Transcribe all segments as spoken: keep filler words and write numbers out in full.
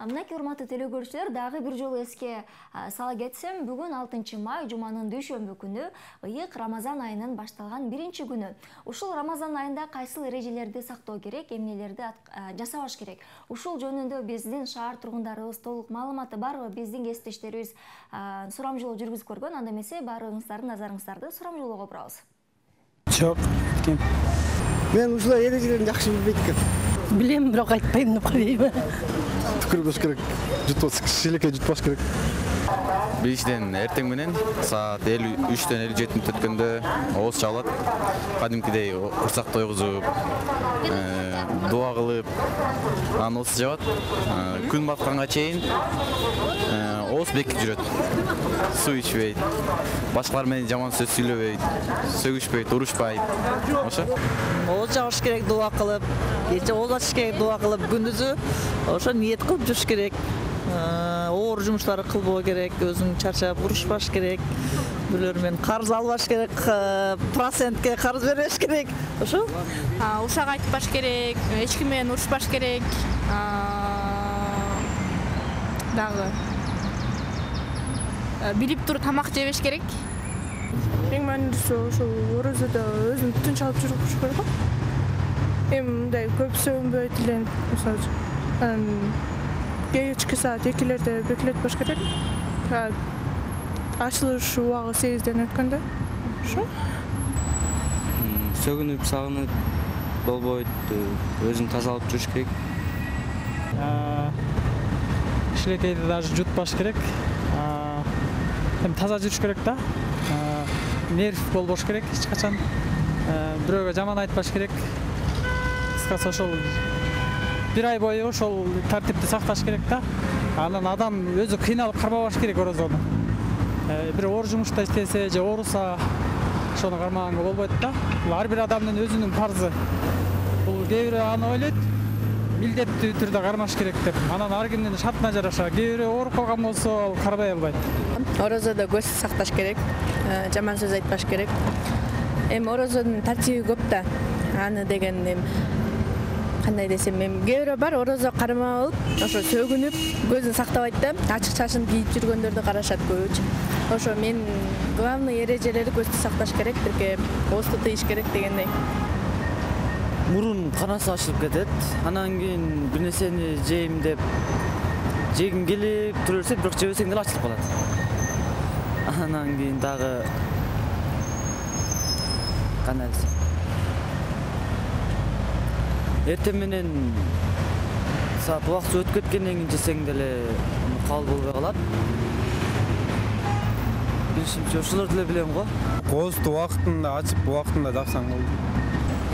Мынакей урматтуу теле көрүүчүлөр, дагы бир жолу эске сала кетсем, бүгүн алтынчы май жуманын дүйшөмбү күнү, ыйык Рамазан айынын башталган биринчи күнү. Ушул Рамазан айында кайсыл эрежелерди сактоо керек, эмнелерди жасабаш керек? Ушул жөнүндө биздин шаар тургундарыбыз толук маалыматы барбы? Биздин кесиптештерибиз сурамжылоо жүргүзүп көргөн. Анда эмесе баарыңыздардын назарыңыздарды сурамжылоого бурабыз. Жок. Мен ушул эрежелерин жакшы билбейт экенмин. Билем, бирок айтпайм деп коёюн. Түкүрбөш керек. Жутпаш, шилекке жутпаш керек. Биринчиден эртең менен саат элүү үчтөн элүү жети мүнөт өткөндө ооз чалат. Кадимкидей курсак тойгузуп, дуа кылып, анан ооз жабат. Күн батканга чейин ооз бекип жүрөт. Суу ичпейт, башкалар менен жаман сөз сүйлөбөйт, сөгүшпөйт, урушпайт. Ошо. Ооз жабыш керек, дуа кылып, кече ооз ачыш керек, дуа кылып, күндүзү ошо ниет кылып жүрүш керек. Оор жумуштарды кылбоо керек, өзүң чарчап урушпаш керек, бирөөлөр менен карыз албаш керек, процентке карыз бербеш керек. Ошо. Ушак айтпаш керек, эч ким менен урушпаш керек. Дагы билип туруп тамак жебеш керек. Эң маанилүүсү ошол орозодо өзүн тынч алып жүрүш керек го. Эми мындай көп сөгүнбөй тиленип, мисалы үчүн кечки саат экилерде бекилетпеш керек. Ачылыш убагы сегизден өткөндө. Ошо. Сөгүнүп, сагынып болбойт, өзүн таза алып жүрүш керек. Шилекейди даже жутпаш керек. Таза жүрүш керек да. Нерв болбош керек эч качан. Бирөөгө жаман айтпаш керек. Кыскасы ошол бир ай бою ошол тартипти сакташ керек да. Анан адам өзү кыйналып кармабаш керек орозону. Бир оор жумушта иштесе же ооруса ошону кармаганга болбойт да. Бул ар бир адамдын өзүнүн парзы. Бул кээ бирөө аны ойлойт, милдеттүү түрдө кармаш керек деп. Анан ар кимдин шартына жараша. Кээ бирөө ооруп калган болсо, ал карбай албайт. Орозодо көз сакташ керек, жаман сөз айтпаш керек. Эми орозонун тартиби көп да. Аны деген эми кандай десем, эми кээ бирөө бар орозо кармап алып, ошо сөгүнүп, көзүн сактабайт да, ачык чачын кийип жүргөндөрдү карашат көбүчө. Ошо мен главный эрежелери көздү сакташ керек, бирке оозду тыйыш керек дегендей. Мурун канасы ачылып кетет. Анан кийин бир нерсени жейм деп жегим келип тура берсе, бирок жебесең деле ачылып калат. Анан кийин дагы кандай десем, эртең менен саат убакыт өтүп кеткенден кийин жесең деле кабыл болбой калат. Билишимче ошолорду эле билем го. Оозду убактында ачып, убактында жапсаң болду.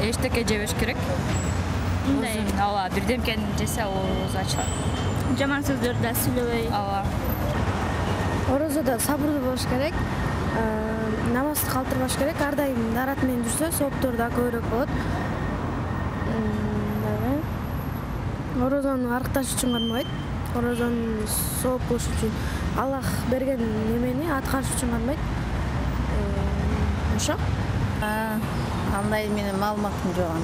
Эчтеке жебеш керек. Мындай, ооба, бирдемкени жесе ооз ачылат. Жаман сөздөрдү да сүйлөбөй. Ооба. Орозодо сабырдуу болуш керек. Намазды калтырбаш керек. Ар дайым дарат менен жүрсө, сооптор да көбүрөөк болот. Орозону арыкташ үчүн кармабайт. Орозону сооп кылыш үчүн, Аллах берген немени аткарыш үчүн кармайт. Ошо. Андай менен маалыматым жок.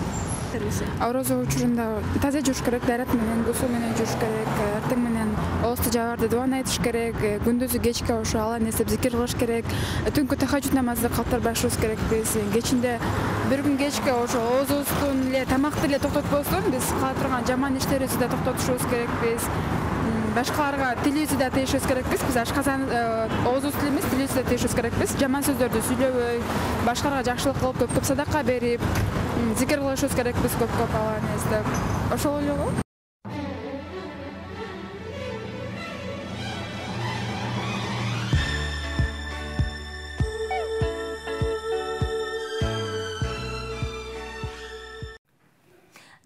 Орозо учурунда таза жүрүш керек, дарат менен, суу менен жүрүш керек, эртең менен оозду жабарды дуан айтыш керек, күндүзү кечке ошо Алланы эстеп зикир кылыш керек, түнкү тахажжуд намазды калтырбашыбыз керекпиз. Кечинде бир күн кечке ошо оозубуздун эле тамакты эле токтотпостон, биз кыла турган жаман иштерибизди да токтотушубуз керекпиз. Башкаларга тилибизди да тийишибиз керекпиз. Биз ашказан оозубуз тилибиз, тилибизди да тийишибиз керекпиз. Жаман сөздөрдү сүйлөбөй, башкаларга жакшылык кылып, көп-көп садака берип, зикир кылышыбыз керекпиз көп-көп Алланы эстеп. Ошол эле го.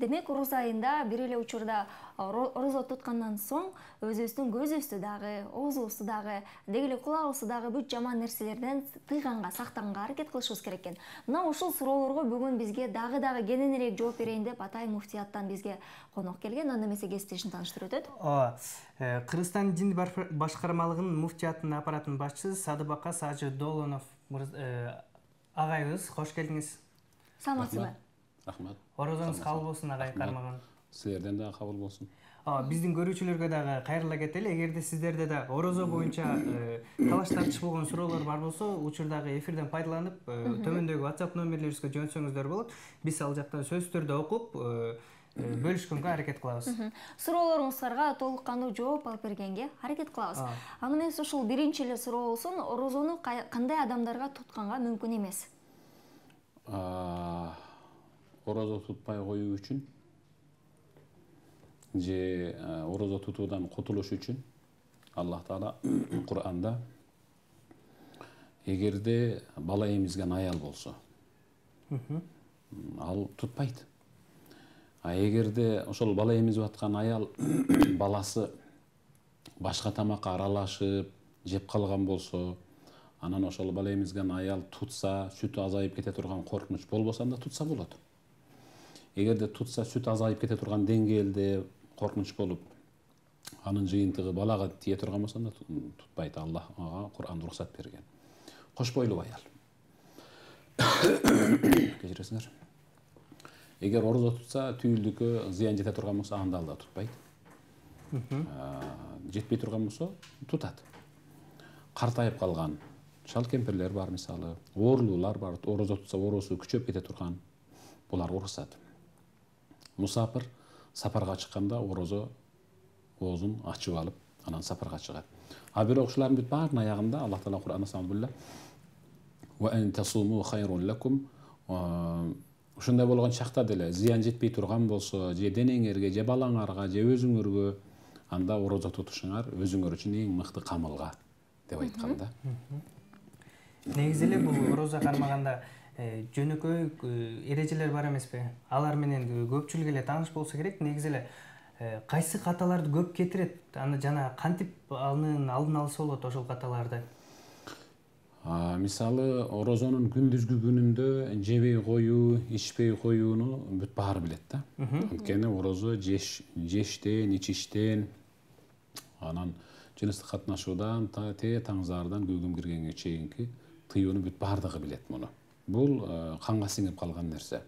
Демек, ороз айында бир эле учурда орозо туткандан соң өзүбүздүн көзүбүздү дагы, оозубузду дагы, деги эле кулагыбызды дагы бүт жаман нерселерден тыйганга, сактаганга аракет кылышыбыз керек экен. Мына ушул суроолорго бүгүн бизге дагы-дагы кененирээк жооп берейин деп Атай муфтияттан бизге конок келген. Анда эмесе кесиптешин тааныштырып өтөт. Ооба. Кыргызстан дин башкармалыгынын муфтиятынын аппаратынын башчысы Садыбака Сажы Долонов агайыбыз, кош келдиңиз. Саламатсызбы? Рахмат. Орозоңуз кабыл болсун, агай кармаган. Силерден да кабыл болсун. Биздин көрүүчүлөргө дагы кайрыла кетели. Эгерде сиздерде да орозо боюнча талаш тартыш болгон суроолор бар болсо, учурдагы эфирден пайдаланып, төмөндөгү WhatsApp номерлерибизге жөнөтсөңүздөр болот. Биз ал жактан сөзсүз түрдө окуп, бөлүшкөнгө аракет кылабыз. Суроолоруңуздарга толук кандуу жооп алып бергенге аракет кылабыз. Аны менен ушул биринчи эле суроо болсун, орозону кандай адамдарга тутканга мүмкүн эмес? Орозо тутпай коюу үчүн же орозо тутуудан кутулуш үчүн Аллах Таала Кур'анда эгерде бала эмизген аял болсо, ал тутпайт. А эгерде ошол бала эмизип аткан аял баласы башка тамакка аралашып жеп калган болсо, анан ошол бала эмизген аял тутса, сүтү азайып кете турган коркунуч болбосо, анда тутса болот. Эгерде тутса, сүт азайып кете турган деңгээлде коркунуч болуп, анын жыйынтыгы балага тие турган болсо, анда тутпайт. Аллах ага Кур'анда уруксат берген. Кош бойлуу аял. Кечиресиңер. Эгер орозо тутса, түйүлдүккө зыян жете турган болсо, анда да тутпайт. Жетпей турган болсо, тутат. Картайып калган шал кемпирлер бар, мисалы, оорлуулар бар, орозо тутса оорусу күчөп кете турган, булар уруксат. Мусапыр сапарга чыкканда орозо оозун ачып алып, анан сапарга чыгат. А бирок ушулардын бүт баарынын аягында Аллах Таала Кур'анда сабылла ва ан тасуму хайрун лакум. Ушундай болгон чакта деле зыян жетпей турган болсо, же денеңерге, же балаңарга, же өзүңөргө, анда орозо тутушуңар өзүңөр үчүн эң мыкты камылга деп айткан да. Негизи эле бул орозо кармаганда жөнөкөй эрежелер бар эмеспи? Алар менен көпчүлүк эле тааныш болсо керек. Негизи эле кайсы каталарды көп кетирет? Аны жана кантип анын алдын алса болот ошол каталарды? Мисалы, орозонун күндүзгү күнүндө жебей коюу, ичпей коюуну бүт баары билет да. Анткени орозо жештен, ичиштен, анан жыныстык катнашуудан те таңзаардан күйгүм киргенге чейинки тыюуну бүт баардыгы билет муну. Бул канга сиңип калган нерсе.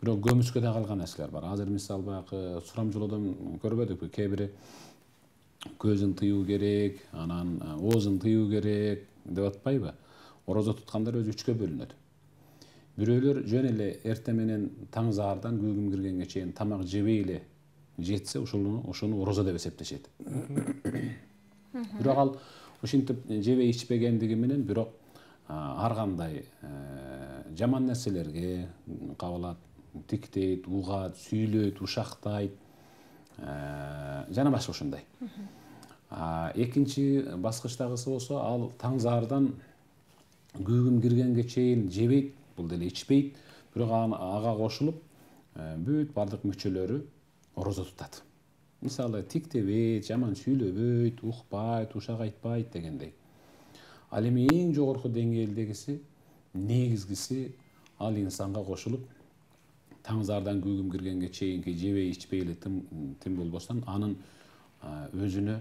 Бирок көмүскөдө калган нерселер бар. Азыр мисалы баягы сурамжылоодон көрбөдүкпү? Кээ бири көзүн тыюу керек, анан оозун тыюу керек деп атпайбы? Орозо туткандар өзү үчкө бөлүнөт. Бирөөлөр жөн эле эрте менен таңзаардан күйгүм киргенге чейин тамак жебей эле жетсе, ошону ошону орозо деп эсептешет. Бирок ал ушинтип жебей ичпегендиги менен бирок ар кандай жаман нерселерге кабылат, тиктейт, угат, сүйлөйт, ушактайт, жана башка ушундай. Экинчи баскычтагысы болсо, ал таңзаардан күйгүм киргенге чейин жебейт, бул деле ичпейт, бирок ага кошулуп бүт бардык мүчөлөрү орозо тутат. Мисалы, тиктебейт, жаман сүйлөбөйт, укпайт, ушак айтпайт дегендей. Ал эми эң жогорку деңгээлдегиси, негизгиси ал инсанга кошулуп, таңзаардан күйгүм киргенге чейинки жебей ичпей эле тим болбостон, анын өзүнө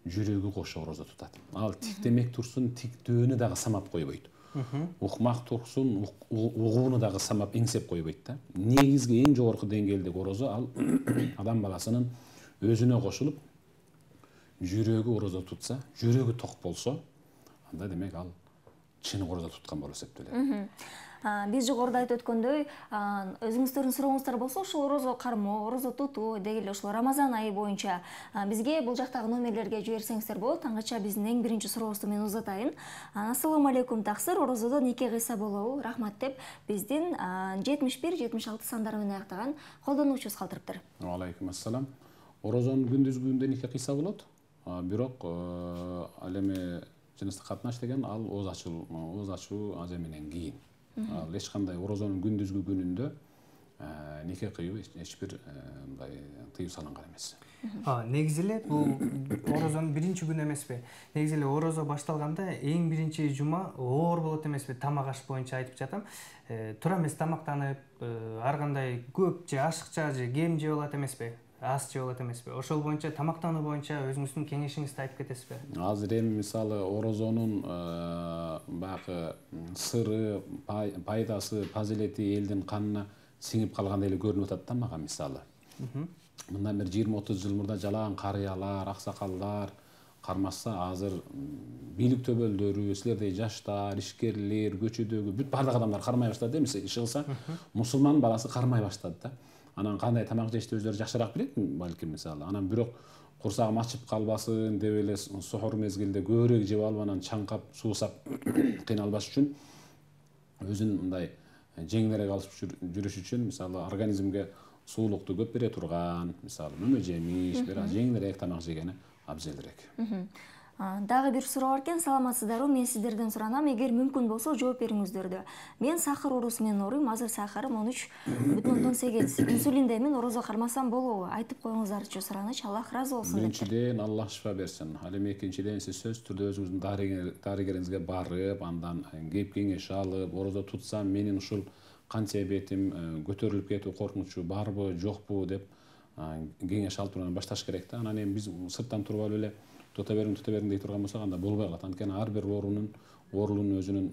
жүрөгү кошо орозо тутат. Ал тиктемек турсун, тиктөөнү дагы самап койбойт. Укмак турсун, угууну дагы самап эңсеп койбойт да. Негизги эң жогорку деңгээлдеги орозо ал адам баласынын өзүнө кошулуп, жүрөгү орозо тутса, жүрөгү ток болсо, анда демек ал чын орозо туткан болуп эсептелет. Биз жогоруда айтып өткөндөй, өзүңүздөрдүн сурооңуздар болсо, ушул орозо кармоо, орозо тутуу деги эле ушул Рамазан айы боюнча бизге бул жактагы номерлерге жиберсеңиздер болот. Аңгача биздин эң биринчи сурообузду мен узатайын. Ассаламу алейкум, таксыр, орозодо неке кыйса болобу? Рахмат деп биздин жетимиш бир жетимиш алты сандары менен аяктаган колдонуучубуз калтырыптыр. Алейкум ассалам. Орозонун күндүзгүндө неке кыйса болот. Бирок ал эми жыныстык катнаш деген ал ооз ачуу, ооз ачуу аз эмеден кийин. Ал эч кандай орозонун күндүзгү күнүндө неке кыюу эч бир мындай тыюу салынган эмес. Негизи эле бул орозонун биринчи күнү эмеспи? Негизи эле орозо башталганда эң биринчи жума оор болот эмеспи? Тамак аш боюнча айтып жатам. Туура эмес тамактанып, ар кандай көп же ашыкча же кем жеп алат эмеспи? Аз жеп алат эмеспи? Ошол боюнча тамактануу боюнча өзүңүздүн кеңешиңизди айтып кетесизби? Азыр эми мисалы орозонун баягы сыры, пайдасы, фазилети элдин канына сиңип калгандай эле көрүнүп атат да мага мисалы. мындан бир жыйырма отуз жыл мурда жалаан карыялар, аксакалдар кармашса, азыр бийлик төбөлдөрү, силердей жаштар, ишкерлер, көчөдөгү бүт бардык адамдар кармай баштады. Эмес, иш кылса, мусулман баласы кармай баштады да. Анан кандай тамак жешти өздөрү жакшыраак билет балким, мисалы. Анан бирок курсагым ачып калбасын деп эле сохор мезгилде көбүрөөк жеп алып, анан чаңкап, суусап кыйналбаш үчүн өзүн мындай жеңилирээк алып жүрүш үчүн, мисалы, организмге суулукту көп бере турган, мисалы, мөмө жемиш, бир аз жеңилирээк тамак жегени абзелирээк. Дагы бир суроо бар экен, саламатсыздарбы? Мен сиздерден суранам, эгер мүмкүн болсо жооп бериңиздер. Мен сахар оорусу менен ооруйм, азыр сахарым он үч бүтүн ондон сегиз. Инсулинде мен орозо кармасам болобу? Айтып коюңуздарчы сураныч. Аллах ыраазы болсун. Биринчиден, Аллах шифа берсин. Ал эми экинчиден, сиз сөзсүз түрдө өзүңүздүн дарыгериңизге барып, андан кеп кеңеш алып, орозо тутсам менин ушул кан себетим көтөрүлүп кетүү коркунучу барбы, жокпу деп кеңеш алып турган башташ керек да. Анан эми биз сырттан туруп алып эле тута бериң, тута бериң дей турган болсок, анда болбой калат. Анткени ар бир оорунун оорунун өзүнүн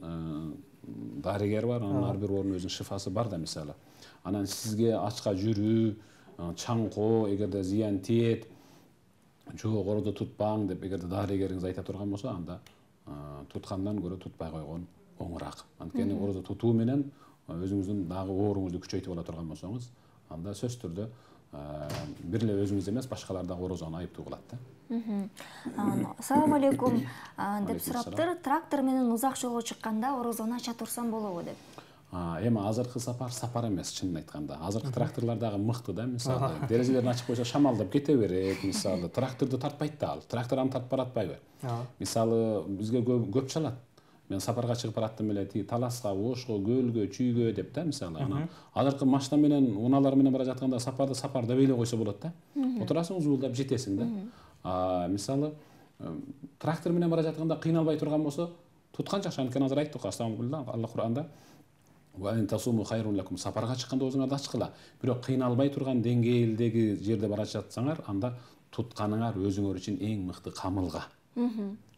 дарыгери бар, анан ар бир оорунун өзүнүн шифасы бар да, мисалы. Анан сизге ачка жүрүү, чаңкоо, эгерде зыян тиет, жок орозо тутпаң деп эгерде дарыгериңиз айта турган болсо, анда туткандан көрө тутпай койгон оңураак. Анткени орозо тутуу менен өзүңүздүн дагы ооруңузду күчөйтүп ала турган болсоңуз, анда сөзсүз түрдө бир эле өзүңүз эмес, башкалар дагы орозону айыптуу кылат да. Салам алейкум деп сураптыр. Трактор менен узак жолго чыкканда орозону ача турсам болобу деп. Эми азыркы сапар сапар эмес, чынын айтканда. Азыркы тракторлор дагы мыкты да, мисалы. Терезелерин ачып койсо шамалдап кете берет, мисалы. Тракторду тартпайт да ал. Трактор аны тартып баратпайбы? Мисалы, бизге көп чалат. Мен сапарга чыгып бараттым эле, тиги Таласка, Ошко, Көлгө, Чүйгө деп да, мисалы. Анан азыркы машина менен, унаалар менен бара жатканда сапарды сапарда бейлей койсо болот да. Отурасың, узуулдап жетесиң да. Мисалы, трактор менен бара жатканда кыйналбай турган болсо, туткан жакшы. Анткени азыр айттык, астагфирулла, Алла Кур'анда сапарга чыкканда өзүңөрдү ачкыла. Бирок кыйналбай турган деңгээлдеги жерде бара жатсаңар, анда тутканыңар өзүңөр үчүн эң мыкты камылга.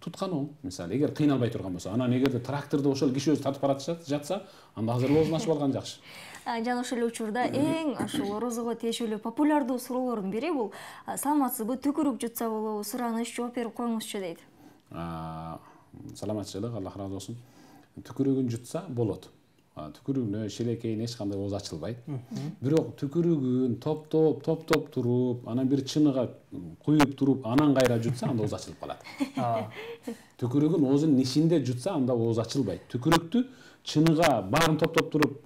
Туткан оң, мисалы, эгер кыйналбай турган болсо, анан эгерде тракторду ошол киши өзү тартып баратып жатса, анда азыр оозун ачып алган жакшы. Жана ошол эле учурда эң ошол орозого тиешелүү популярдуу суроолордун бири бул саламатсызбы, түкүрүк жутса болобу, сураныч, жооп берип коюңузчу дейт. Саламатчылык, Аллах ыраазы болсун. Түкүрүгүн жутса болот. Түкүрүгүнө шелекейин эч кандай ооз ачылбайт. Бирок түкүрүгүн топ-топ, топ-топ туруп, анан бир чыныга куюп туруп, анан кайра жутса, анда ооз ачылып калат. Түкүрүгүн оозунун ичинде жутса, анда ооз ачылбайт. Түкүрүктү чыныга баарын топ-топ туруп,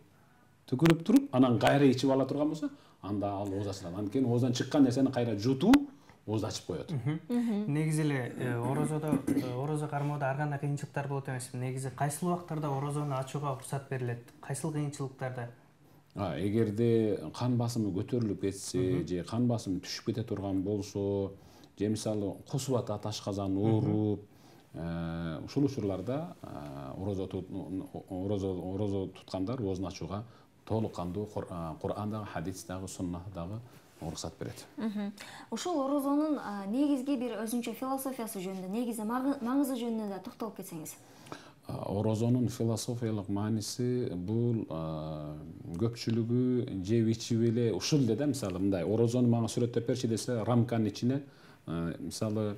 түкүрүп туруп, анан кайра ичип ала турган болсо, анда ал ооз ачылат. Анткени ооздан чыккан нерсени кайра жутуу ооз ачып коет. Негизи эле орозодо орозо кармоодо ар кандай кыйынчылыктар болот эмеспи? Негизи кайсыл убактарда орозону ачууга уруксат берилет? Кайсыл кыйынчылыктарда? Эгерде кан басымы көтөрүлүп кетсе, же кан басымы түшүп кете турган болсо, же мисалы косуп атат, ашказан ооруп, ушул учурларда орозо орозо туткандар оозун ачууга толук кандуу Кур'андагы, хадистагы, суннатдагы уруксат берет. Ушул орозонун негизги бир өзүнчө философиясы жөнүндө, негизи маңызы жөнүндө да токтолуп кетсеңиз. Орозонун философиялык мааниси бул көпчүлүгү жеп ичип эле ушул эле да, мисалы мындай орозону мага сүрөттөп берчи десе, рамканын ичине мисалы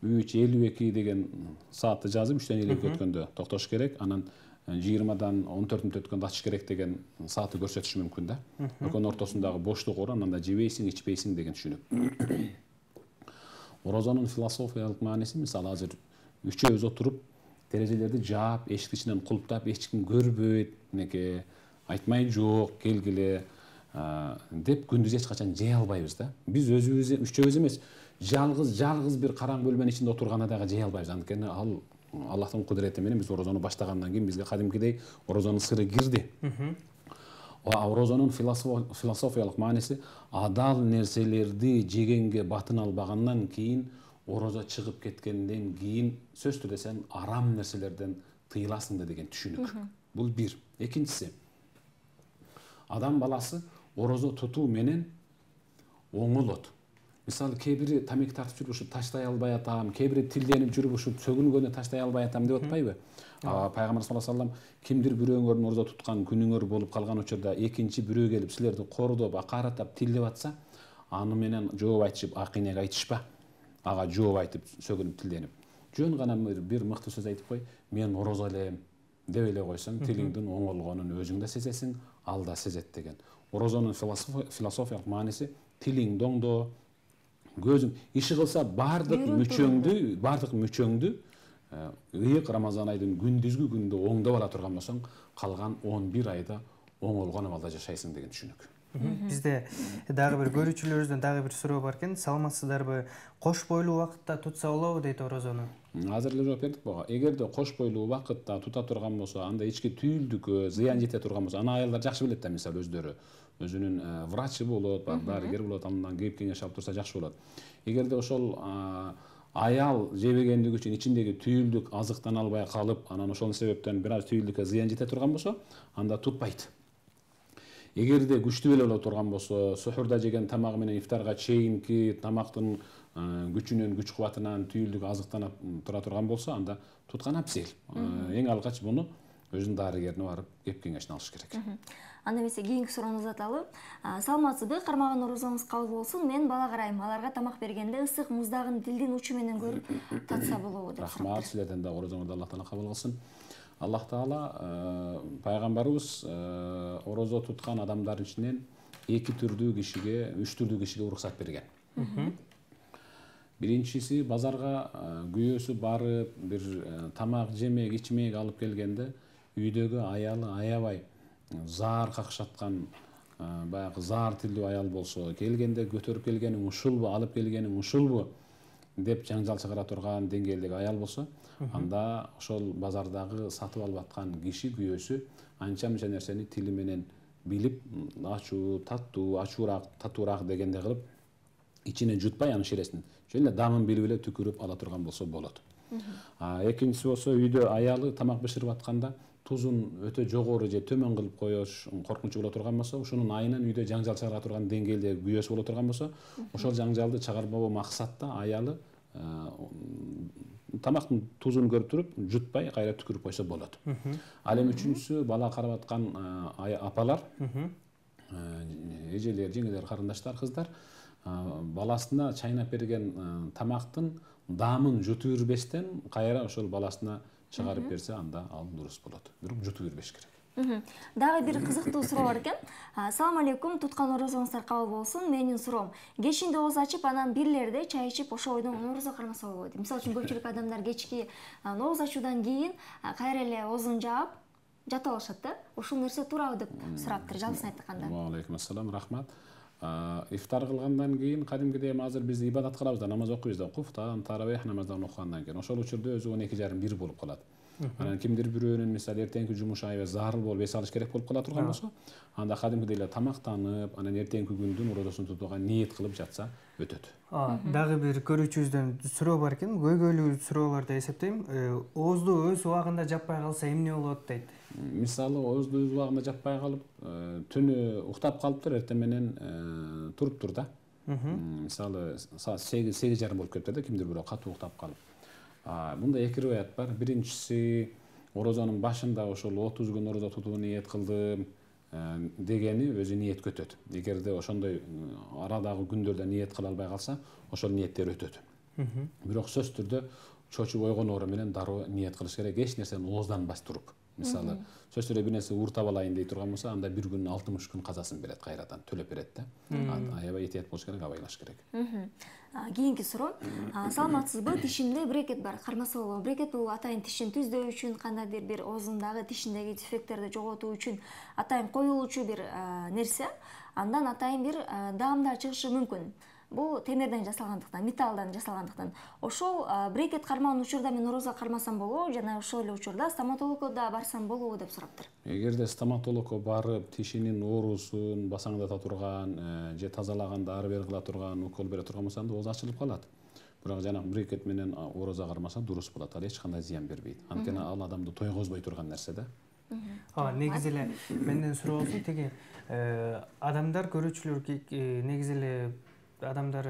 үч элүү эки деген саатты жазып, үчтөн элүү эки өткөндө токтош керек, анан жыйырмадан он төрт мүнөт өткөндө ачыш керек деген саатты көрсөтүшү мүмкүн да. Экөөнүн ортосундагы боштук оор, анда жебейсиң, ичпейсиң деген түшүнүк. Орозонун философиялык мааниси мисалы азыр үчөөбүз отуруп, терезелерди жаап, эшиктин ичинен кулптап, эч ким көрбөйт, мынеке айтмай жок, келгиле деп күндүз эч качан жей албайбыз да. Биз өзүбүз үчөөбүз эмес, жалгыз жалгыз бир караң бөлмөнүн ичинде отурганда дагы жей албайбыз. Анткени ал Аллахтын кудурети менен биз орозону баштагандан кийин бизге кадимкидей орозонун сыры кирди. Орозонун философиялык мааниси адал нерселерди жегенге батын албагандан кийин, орозо чыгып кеткенден кийин сөзсүз түрдө сен арам нерселерден тыйыласың да деген түшүнүк. Бул бир. Экинчиси, адам баласы орозо тутуу менен оңолот. Мисалы, кээ бири тамеки тартып жүрүп ушу таштай албай атам, кээ бири тилденип жүрүп ушу сөгүнгөндө таштай албай атам деп атпайбы? Пайгамбар саллаллаху алейхи вассалам кимдир бирөөңөрдүн орозо туткан күнүңөр болуп калган учурда экинчи бирөө келип силерди кордоп, акараттап, тилдеп атса, аны менен жооп айтышып акыйнеге айтышпа, ага жооп айтып сөгүнүп тилденип. Жөн гана бир мыкты сөз айтып кой, мен орозо элем деп эле койсоң, тилиңдин оңолгонун өзүң да сезесиң, ал да сезет деген. Орозонун философиялык мааниси тилиң доңдо, көзүң иши кылса бардык мүчөңдү, бардык мүчөңдү ыйык Рамазан айдын күндүзгү күндө оңдоп ала турган болсоң, калган он бир айда оңолгон абалда жашайсың деген түшүнүк. Бизде дагы бир көрүүчүлөрүбүздөн дагы бир суроо бар экен. Саламатсыздарбы? Кош бойлуу убакытта тутса болобу дейт орозону? Азыр эле жооп бердик буга. Эгерде кош бойлуу убакытта тута турган болсо, анда ички түйүлдүккө зыян жете турган болсо, аны аялдар жакшы билет да, мисалы өздөрү. Өзүнүн врачы болот, дарыгер болот, андан кеп кеңеш алып турса жакшы болот. Эгерде ошол аял жебегендиги үчүн ичиндеги түйүлдүк азыктана албай калып, анан ошол себептен бир аз түйүлдүккө зыян жете турган болсо, анда тутпайт. Эгерде күчтүү эле боло турган болсо, сухурда жеген тамагы менен ифтарга чейинки тамактын күчүнөн, күч кубатынан түйүлдүк азыктанып тура турган болсо, анда туткан абзел. Эң алгач муну өзүнүн дарыгерине барып кеп кеңешин алыш керек. Анда эмесе кийинки суроону узаталы. Саламатсызбы? Кармаган орозоңуз кабыл болсун. Мен бала карайм. Аларга тамак бергенде ысык муздагын дилдин учу менен көрүп татса болобу деп сурап. Рахмат, силерден да орозоңузду Аллах таала кабыл кылсын. Аллах таала пайгамбарыбыз орозо туткан адамдардын ичинен эки түрдүү кишиге, үч түрдүү кишиге уруксат берген. Биринчиси базарга күйөөсү барып, бир тамак, жемек, ичмек алып келгенде, үйдөгү аялы аябай заар какшаткан, баягы заар тилдүү аял болсо, келгенде көтөрүп келгениң ушулбу, алып келгениң ушулбу деп жаңжал чыгара турган деңгээлдеги аял болсо, анда ошол базардагы сатып алып аткан киши күйөөсү анча мынча нерсени тили менен билип, ачуу, таттуу, ачуураак, татуураак дегенде кылып, ичине жутпай анын шересин, жөн эле дамын билип эле түкүрүп ала турган болсо болот. Экинчиси болсо, үйдө аялы тамак бышырып атканда тузун өтө жогору же төмөн кылып коюш коркунучу боло турган болсо, ушунун айынан үйдө жаңжал чыгара турган деңгээлдеги күйөөсү боло турган болсо, ошол жаңжалды чыгарбоо максатта аялы тамактын тузун көрүп туруп, жутпай кайра түкүрүп койсо болот. Ал эми үчүнчүсү бала карап аткан апалар, эжелер, жеңелер, карындаштар, кыздар баласына чайнап берген тамактын даамын жутуп жүрбестен кайра ошол баласына чыгарып берсе, анда ал дурус болот. Бирок жутуп бербеш керек. Дагы бир кызыктуу суроо бар экен. Салам алейкум, туткан орозоңуздар кабыл болсун. Менин суроом, кечинде ооз ачып, анан бирлерде чай ичип, ошо бойдон орозо кармаса болобу дейт. Мисалы үчүн көпчүлүк адамдар кечки ооз ачуудан кийин кайра эле оозун жаап жатып алышат да. Ушул нерсе туурабы деп сураптыр, жалпысын айтканда. Ва алейкум ассалам, рахмат. Ифтар кылгандан кийин кадимкидей азыр биз ибадат кылабыз да, намаз окуйбуз да, куфтан, таравих намаздан окугандан кийин ошол учурда өзү он эки жарым бир болуп калат. Анан кимдир бирөөнүн мисалы эртеңки жумуш аябай зарыл болуп эс алыш керек болуп кала турган болсо, анда кадимкидей эле тамактанып, анан эртеңки күндүн орозосун тутууга ниет кылып жатса өтөт. Дагы бир көрүүчүбүздөн суроо бар экен, көйгөйлүү суроолор деп эсептейм. Оозду өз убагында жаппай калса эмне болот дейт. Мисалы оозду өз убагында жаппай калып, түнү уктап калыптыр, эртең менен туруптур да. Мисалы саат сегиз жарым болуп кетиптир да, кимдир бирөө катуу уктап калып. Мында эки риваят бар. Биринчиси, орозонун башында ошол отуз күн орозо тутуу ниет кылдым дегени өзү ниетке өтөт. Эгерде ошондой арадагы күндөрдө ниет кыла албай калса, ошол ниеттер өтөт. Бирок сөзсүз түрдө чочуп ойгоноору менен дароо ниет кылыш керек, эч нерсени оозданбай туруп. Мисалы, сөзсүз түрдө бир нерсе ууртап алайын дей турган болсо, анда бир күнүн алтымыш күн казасын берет, кайрадан төлөп берет да. Аябай этият болуш керек, абайлаш керек. Кийинки суроо. Саламатсызбы? Тишимде брекет бар, кармаса болобу? Брекет бул атайын тишин түздөө үчүн, кандайдыр бир оозундагы тишиндеги дефекттерди жоготуу үчүн атайын коюлуучу бир нерсе. Андан атайын бир даамдар чыгышы мүмкүн. Бул темирден жасалгандыктан, металлдан жасалгандыктан. Ошол брекет кармаган учурда мен орозо кармасам болобу, жана ошол эле учурда стоматологко барсам болобу деп сураптыр. Эгерде стоматологко барып, тишинин оорусун басаңдата турган, же тазалаганда ары бери кыла турган, укол бере турган болсо, анда ооз ачылып калат. Бирок жана брекет менен орозо кармаса дурус болот, ал эч кандай зыян бербейт. Анткени ал адамды тойгозбой турган нерсе да. Негизи эле менден суроо болсун, теги адамдар, көрүүчүлөр негизи эле адамдар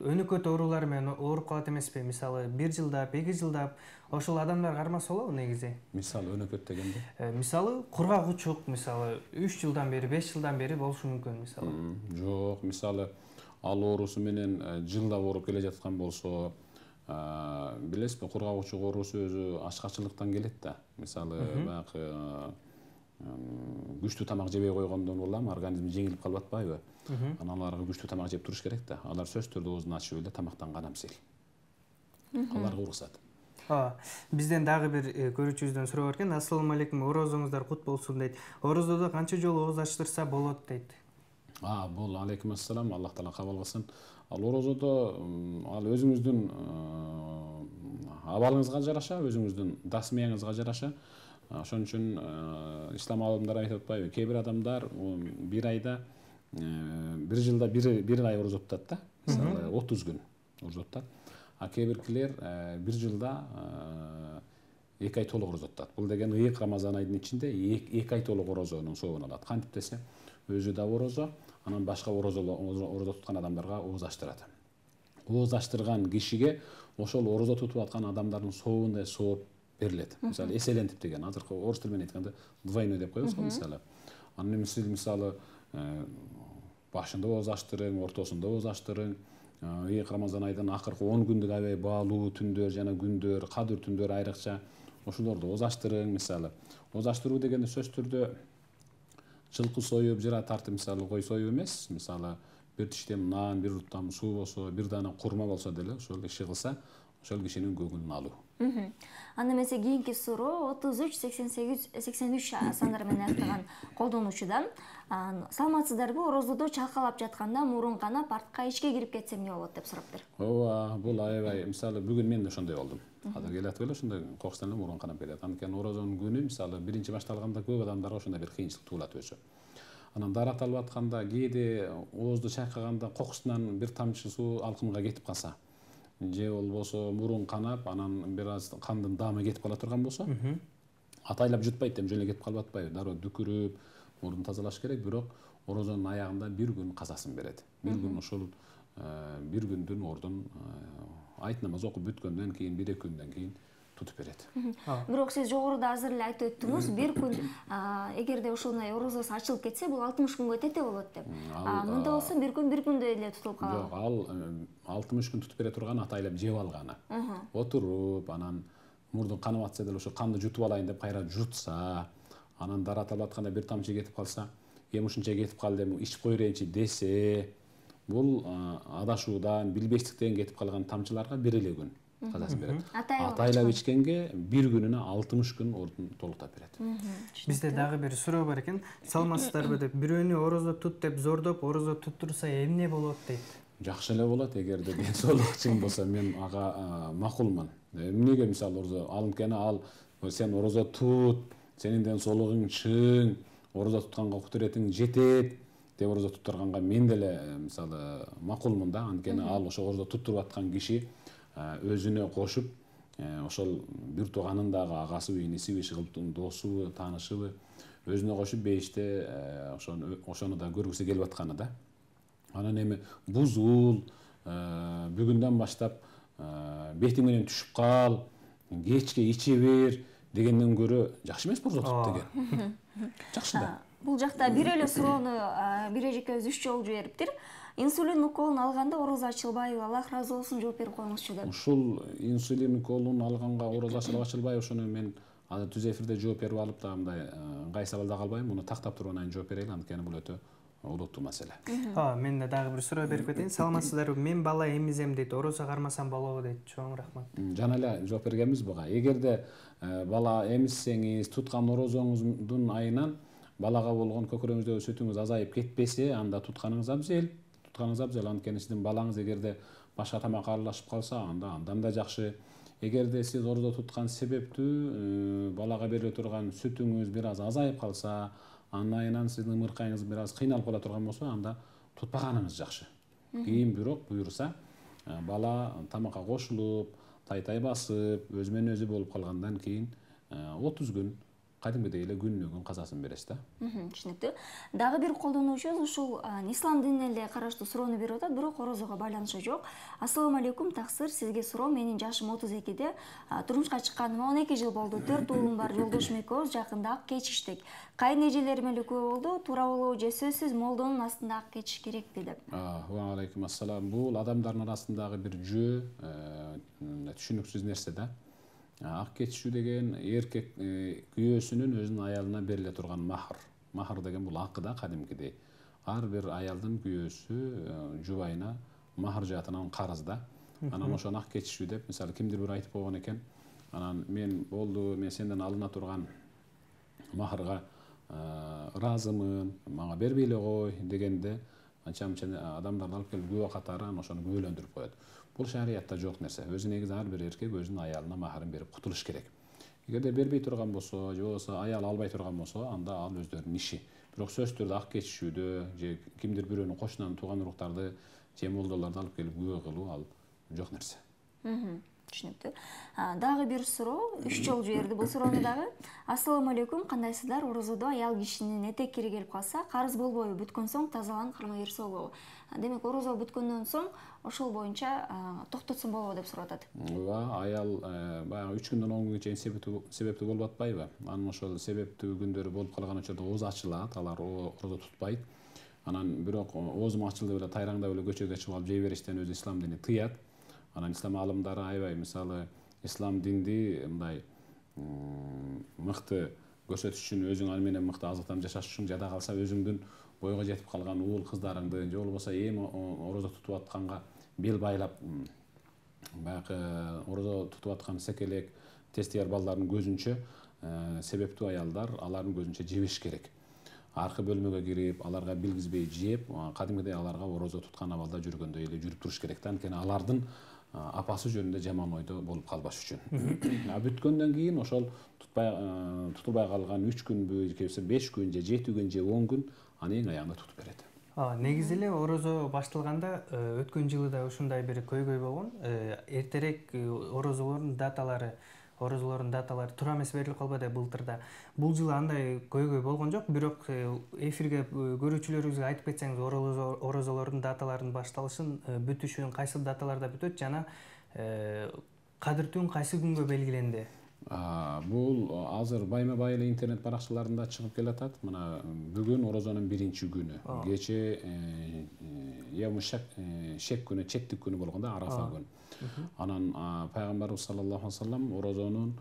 өнөкөт оорулар менен ооруп калат эмеспи? Мисалы бир жылдап, эки жылдап ошол адамдар кармаса болобу негизи? Мисалы өнөкөт дегенде? Мисалы кургак учук, мисалы үч жылдан бери, беш жылдан бери болушу мүмкүн мисалы. Жок, мисалы ал оорусу менен жылдап ооруп келе жаткан болсо, билесизби, кургак учук оорусу өзү ачкачылыктан келет да. Мисалы баягы күчтүү тамак жебей койгондон улам организм жеңилип калып атпайбы? Анан аларга күчтүү тамак жеп туруш керек да. Алар сөзсүз түрдө оозун ачып эле тамактанган амсил. Аларга уруксат. Бизден дагы бир көрүүчүбүздөн суроо бар экен. Ассалам алейкум, орозоңуздар кут болсун дейт. Орозодо канча жолу ооз ачтырса болот дейт. А, бул алейкум ассалам, Аллах таала кабыл кылсын. Ал орозодо ал өзүңүздүн абалыңызга жараша, өзүңүздүн дасмияңызга жараша. Ошон үчүн ислам алымдары айтып атпайбы? Кээ бир адамдар бир айда бир жылда бир ай орозо тутат да. Мисалы отуз күн орозо тутат. А кээ биркилер бир жылда эки ай толук орозо тутат. Бул деген ыйык Рамазан айдын ичинде эки ай толук орозонун сообун алат. Кантип десе, өзү да орозо, анан башка орозо туткан адамдарга ооз ачтырат. Ооз ачтырган кишиге ошол орозо тутуп аткан адамдардын сообундай сооп берилет. Мисалы эселентип деген, азыркы орус тили менен айтканда двойной деп коебуз го мисалы. Анан эми сиз мисалы башында ооз ачтырың, ортосунда ооз ачтырың, ыйык Рамазан айдын акыркы он күндүк аябай баалуу түндөр жана күндөр, кадыр түндөр айрыкча ошолордо ооз ачтырың мисалы. Ооз ачтыруу дегенде сөзсүз түрдө жылкы союп, жыра тартып мисалы кой союп эмес, мисалы бир тиштем нан, бир урттам суу болсо, бир даана курма болсо деле ошол иши кылса, ошол кишинин көңүлүн алуу. Анда эмесе кийинки суроо отуз үч сексен сегиз сексен үч сандары менен аяктаган колдонуучудан. Саламатсыздарбы, орозодо чалкалап жатканда мурун канап, артка ичке кирип кетсем эмне болот деп сураптыр. Ооба, бул аябай мисалы бүгүн мен да ошондой болдум. Азыр келатып эле ошондой кокустан эле мурун канап келет. Анткени орозонун күнү мисалы биринчи башталганда көп адамдарга ошондой бир кыйынчылык туулат өзү. Анан дарат алып атканда кээде оозду чайкаганда кокусунан бир тамчы суу алкымга кетип калса, же болбосо мурун канап, анан бир аз кандын даамы кетип кала турган болсо, атайлап жутпайт, эми жөн эле кетип калып атпайбы? Дароо дүкүрүп, мурун тазалаш керек, бирок орозонун аягында бир күн казасын берет. Бир күн ошол бир күндүн ордун айт намаз окуп бүткөндөн кийин, бир эки күндөн кийин тутуп берет. Бирок сиз жогоруда азыр эле айтып өттүңүз, бир күн эгерде ошондой орозосу ачылып кетсе, бул алтымыш күнгө тете болот деп. Мында болсо бир күн бир күндө эле тутулуп калат. Жок, ал алтымыш күн тутуп бере турган атайлап жеп алганы. Отуруп, анан мурдун канып атса деле ошо канды жутуп алайын деп кайра жутса, анан дарат алып атканда бир тамчы кетип калса, эми ушунча кетип калды, эми ичип кой берейинчи десе, бул адашуудан, билбестиктен кетип калган тамчыларга бир эле күн казасын берет. Атайлап ичкенге бир күнүнө алтымыш күн ордун толуктап берет. Бизде дагы бир суроо бар экен. Саламатсыздарбы деп, бирөөнү орозо тут деп зордоп, орозо туттурса эмне болот дейт. Жакшы эле болот, эгерде ден соолук чың болсо, мен ага макулмун. Эмнеге мисалы орозо алынткени ал сен орозо тут, сенин ден соолугуң чың, орозо тутканга кудуретиң жетет деп орозо туттурганга мен деле мисалы макулмун да. Анткени ал ошо орозо туттуруп аткан киши өзүнө кошуп, ошол бир тууганын дагы агасыбы, инисиби, шыгылтын досубу, таанышыбы өзүнө кошуп бейиште ошону ошону да көргүсү келип атканы да. Анан эми бузул, бүгүндөн баштап бетиң менен түшүп кал, кечке иче бер дегенден көрө жакшы эмеспи орозо тутуп деген? Жакшы да. Бул жакта бир эле суроону бир эжекебиз үч жолу жибериптир. Инсулин уколун алганда орозо ачылбайбы? Аллах разы болсун, жооп берип коюңузчу деп. Ушул инсулин уколун алганга орозо ачылып ачылбайбы, ошону мен азыр түз эфирде жооп берип алып да мындай ыңгай сабалда калбайм. Муну тактап туруп анан жооп берейин, анткени бул өтө олуттуу маселе. Мен да дагы бир суроо берип кетейин. Саламатсыздарбы? Мен бала эмизем дейт. Орозо кармасам болобу дейт. Чоң рахмат. Жана эле жооп бергенбиз буга. Эгерде бала эмизсеңиз, туткан орозоңуздун айынан балага болгон көкүрөгүңүздөгү сүтүңүз азайып кетпесе, анда тутканыңыз абзел. Тутканыңыз абзел, анткени сиздин балаңыз эгерде башка тамакка аралашып калса, анда андан да жакшы. Эгерде сиз орозо туткан себептүү балага бериле турган сүтүңүз бир аз азайып калса, анын айынан сиздин ымыркайыңыз бир аз кыйналып кала турган болсо, анда тутпаганыңыз жакшы. Кийин бирок буюрса, бала тамакка кошулуп, тай-тай басып, өзү менен өзү болуп калгандан кийин отуз күн кадимгидей эле күнүнө күн казасын бересиз да. Түшүнүктүү. Дагы бир колдонуучубуз ушул ислам динине эле караштуу суроону берип атат, бирок орозого байланышы жок. Ассаламу алейкум, таксыр, сизге суроо. Менин жашым отуз экиде, турмушка чыкканыма он эки жыл болду. төрт уулум бар, жолдошум экөөбүз жакында ак кечиштик. Кайын эжелерим эле күбө болду. Туура болобу же сөзсүз молдонун астында ак кечиш керек деп. Ва алейкум ассалам. Бул адамдардын арасындагы бир жөө, түшүнүксүз нерсе да. Ак кечишүү деген эркек күйөөсүнүн өзүнүн аялына бериле турган махр. Махр деген бул акы да, кадимкидей. Ар бир аялдын күйөөсү жубайына махр жаатынан карыз да. Анан ошону ак кечишүү деп, мисалы кимдир бир айтып койгон экен. Анан мен болду, мен сенден алына турган махрга ыраазымын, мага бербей эле кой дегенде анча-мынча адамдарды алып келип күбө катары ошону күбөлөндүрүп коет. Бул шариятта жок нерсе. Өзү негизи ар бир эркек өзүнүн аялына махрын берип кутулуш керек. Эгерде бербей турган болсо, же болбосо аял албай турган болсо, анда ал өздөрүнүн иши. Бирок сөзсүз түрдө ак кечишүүдө же кимдир бирөөнүн кошунан тууган уруктарды же молдолорду алып келип күбө кылуу ал жок нерсе. Түшүнүктүү. Дагы бир суроо, үч жолу жиберди бул суроону дагы. Ассаламу алейкум, кандайсыздар? Орозодо аял кишинин этек кири келип калса, карыз болбойбу? Бүткөн соң тазаланып кармай берсе болобу? Демек, орозо бүткөндөн соң ошол боюнча токтотсун болобу деп сурап атат. Ооба, аял баягы үч күндөн он күнгө чейин себептүү болуп атпайбы? Анын ошол себептүү күндөрү болуп калган учурда оозу ачылат, алар орозо тутпайт. Анан бирок оозум ачылды эле тайраңдап эле көчөгө чыгып алып жей бериштен өзү ислам дини тыят. Анан ислам алымдары аябай, мисалы, ислам динди мындай мыкты көрсөтүш үчүн, өзүң аны менен мыкты азыктанып жашаш үчүн жада калса өзүңдүн бойго жетип калган уул кыздарыңды же болбосо эми орозо тутуп атканга бел байлап баягы орозо тутуп аткан секелек тестияр балдардын көзүнчө себептүү аялдар алардын көзүнчө жебеш керек. Аркы бөлмөгө кирип, аларга билгизбей жеп, кадимгидей аларга орозо туткан абалда жүргөндөй эле жүрүп туруш керек да. Анткени алардын апасы жөнүндө жаман ойдо болуп калбаш үчүн. А бүткөндөн кийин ошол тутпай тутулбай калган үч күнбү, же болбосо беш күн, же жети күн, же он күн аны эң аягында тутуп берет. Негизи эле орозо башталганда өткөн жылы да ушундай бир көйгөй болгон. Эртерээк орозолордун даталары орозолордун даталары туура эмес берилип калбады былтырда. Бул жылы андай көйгөй болгон жок, бирок эфирге көрүүчүлөрүбүзгө айтып кетсеңиз, орозолордун даталарынын башталышын, бүтүшүн, кайсы даталарда бүтөт жана кадыр түн кайсы күнгө белгиленди? Бул азыр байма-бай эле интернет баракчаларында чыгып келатат. Мына бүгүн орозонун биринчи күнү. Кече явму шек күнү, четтик күнү болгондо, арафа күнү. Анан пайгамбарыбыз саллаллаху алейхи вассалам орозонун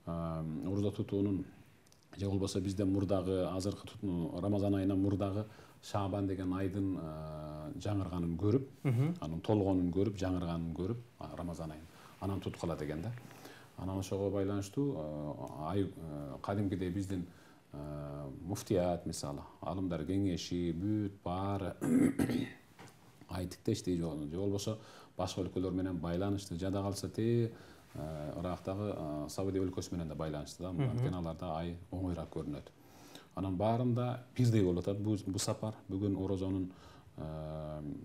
орозо тутуунун же болбосо бизде мурдагы азыркы Рамазан айынан мурдагы Шабан деген айдын жаңырганын көрүп, анын толгонун көрүп, жаңырганын көрүп, Рамазан айын анан туткала деген да. Анан ошого байланыштуу ай кадимкидей биздин муфтият мисалы, алымдар кеңеши, бүт баары ай тиктештей же болбосо башка өлкөлөр менен байланышты, жада калса те Ирактагы Саудия өлкөсү менен да байланышты да, анткени аларда ай оңоюраак көрүнөт. Анан баарында бирдей болуп атат бул сапар. Бүгүн орозонун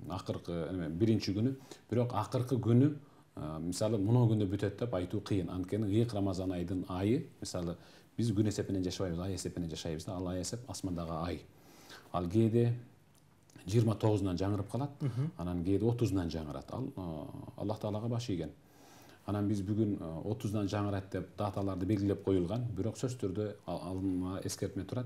акыркы биринчи күнү, бирок акыркы күнү мисалы мына күндө бүтөт деп айтуу кыйын. Анткени ыйык Рамазан айдын айы, мисалы биз күн эсепинен жашабайбыз, ай эсепинен жашайбыз да, ал ай эсеп асмандагы ай. Ал кээде жыйырма тогузунан жаңырып калат, анан кээде отузунан жаңырат. Ал Аллах Таалага баш ийген. Анан биз бүгүн отузунан жаңырат деп даталарды белгилеп коюлган, бирок сөзсүз түрдө алыма эскертме турат.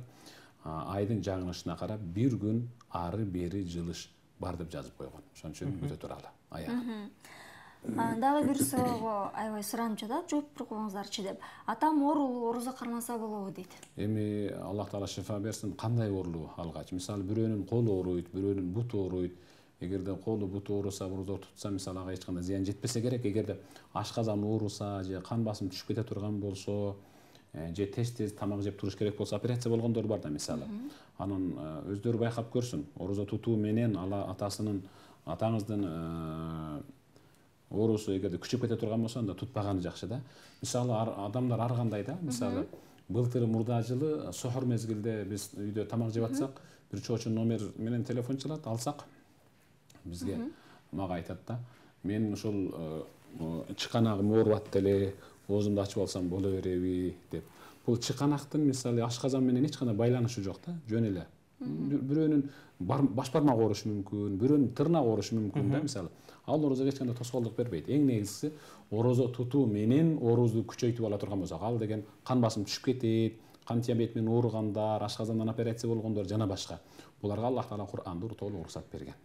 Айдын жаңырышына карап бир күн ары бери жылыш бар деп жазып койгон. Ошон үчүн күтө туралы аягы. Дагы бир суроого аябай суранып жатат, жооп берип коюңуздарчы деп. Атам оорулуу, орозо кармаса болобу дейт. Эми Аллах Таала шифа берсин, кандай оорулуу алгач? Мисалы бирөөнүн колу ооруйт, бирөөнүн буту ооруйт. Эгерде колу буту ооруса, орозо тутса, мисалы ага эч кандай зыян жетпесе керек. Эгерде ашказан ооруса, же кан басым түшүп кете турган болсо, же тез-тез тамак жеп туруш керек болсо, операция болгондор бар да мисалы. Анан өздөрү байкап көрсүн. Орозо тутуу менен атасынын, атаңыздын оорусу эгерде күчөп кете турган болсо, анда тутпаганы жакшы да. Мисалы адамдар ар кандай да. Мисалы былтыр мурда жылы сохор мезгилде биз үйдө тамак жеп атсак, бир чоочун номер менен телефон чалат, алсак бизге мага айтат да. Мен ушул чыканагым ооруп атты эле, оозумду ачып алсам боло береби деп. бул чыканактын мисалы ашказан менен эч кандай байланышы жок да, жөн эле. Бирөөнүн баш бармак оорушу мүмкүн, бирөөнүн тырнак оорушу мүмкүн да, мисалы. Ал орозого эч кандай тоскоолдук бербейт. Эң негизгиси орозо тутуу менен оорубузду күчөйтүп ала турган болсок, ал деген кан басым түшүп кетет, кан диабет менен ооругандар, ашказандан операция болгондор жана башка. Буларга Аллах Таала Кур'анда толук уруксат берген.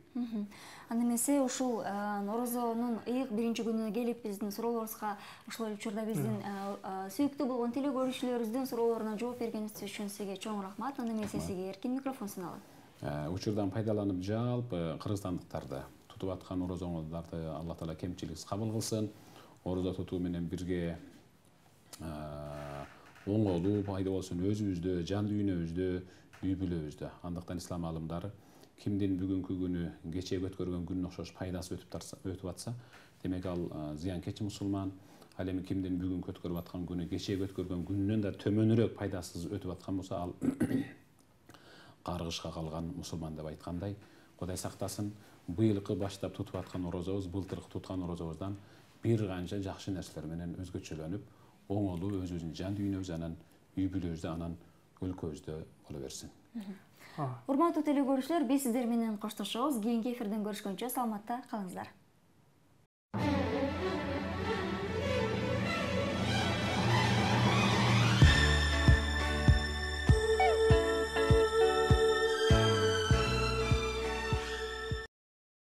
Анда эмесе ушул орозонун ыйык биринчи күнүнө келип биздин суроолорубузга ушул учурда биздин сүйүктүү болгон теле көрүүчүлөрүбүздүн суроолоруна жооп бергениңиз үчүн сизге чоң рахмат. Анда эмесе сизге эркин микрофон суналат. Учурдан пайдаланып жалпы кыргызстандыктарды тутуп аткан орозоңоздарды Аллах Таала кемчиликсиз кабыл кылсын. Орозо тутуу менен бирге оңолуу пайда болсун өзүбүздө, жан дүйнөбүздө, үй бүлөбүздө. Андыктан ислам алымдары кимдин бүгүнкү күнү кечеги өткөргөн күнүнө окшош пайдасы өтүп атса, демек ал зыянкечи мусулман. Ал эми кимдин бүгүнкү өткөрүп аткан күнү кечеги өткөргөн күнүнөн да төмөнүрөөк пайдасыз өтүп аткан болсо, ал каргышка калган мусулман деп айткандай. Кудай сактасын, быйылкы баштап тутуп аткан орозобуз, былтыркы туткан орозобуздан бир канча жакшы нерселер менен өзгөчөлөнүп, оңолуу өзүбүздүн жан дүйнөбүз, анан үй бүлөбүздө, анан өлкөбүздө боло берсин. Урматтуу теле көрүүчүлөр, биз сиздер менен коштошобуз. Кийинки эфирден көрүшкөнчө саламатта калыңыздар.